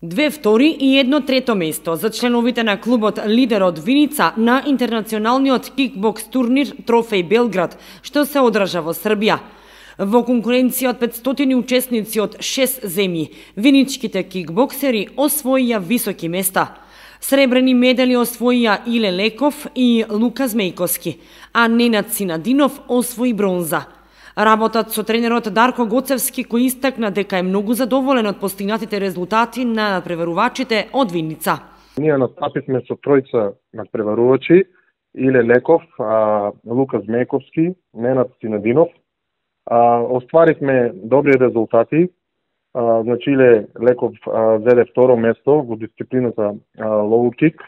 2 втори и 1 трето место за членовите на клубот Лидер од Виница на интернационалниот кикбокс турнир Трофеј Белград, што се одржа во Србија. Во конкуренција од 500 учесници од 6 земји, виничките кикбоксери освоија високи места. Сребрени медали освоија Иле Леков и Лука Змејковски, а Ненад Синадинов освои бронза. Работат со тренерот Дарко Гоцевски, кој истакна дека е многу задоволен од постигнатите резултати на надпреварувачите од Виница. Ние настапивме со тројца надпреварувачи: Иле Леков, Лука Змејковски, Ненад Синадинов. Остваривме добри резултати. Значи Иле Леков зеде второ место во дисциплината лоу кик.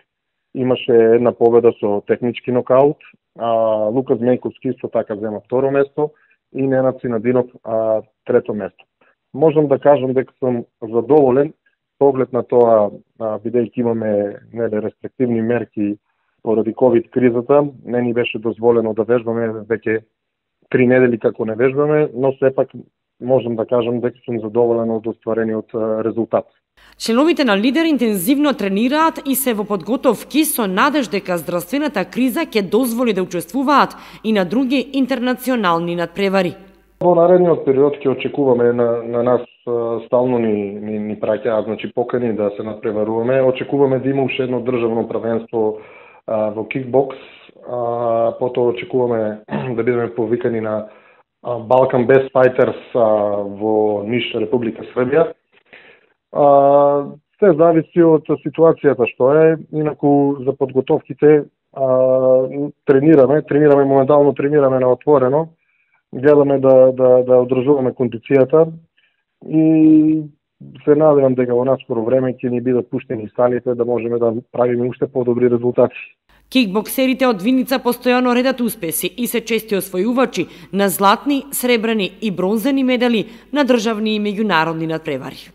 Имаше една победа со технички нокаут. Лука Змејковски со така зема второ место и Ненад Синадинов трето место. Можам да кажам дека сум задоволен поглед на тоа, бидејќи имаме рестриктивни мерки поради ковид кризата, не ни беше дозволено да вежбаме веќе 3 недели како не вежбаме, но сепак можам да кажам дека сум задоволен од остварениот резултат. Членовите на Лидер интензивно тренираат и се во подготовки со надеж дека здравствената криза ќе дозволи да учествуваат и на други интернационални надпревари. Во наредниот период ќе очекуваме на нас стално ни праќаат, значи покани да се надпреваруваме. Очекуваме да има уште едно државно првенство во кикбокс, потоа очекуваме да бидеме повикани на Balkan Best Fighters во Ниш, Република Србија. Се зависи од ситуацијата што е, инаку за подготовките тренираме моментално тренираме на отворено, гледаме да одржуваме кондицијата и се надевам дека во наскоро време ќе ни бидат пуштени салите да можеме да правиме уште подобри резултати. Кикбоксерите од Виница постојано редат успеси и се чести освојувачи на златни, сребрени и бронзени медали на државни и меѓународни надпревари.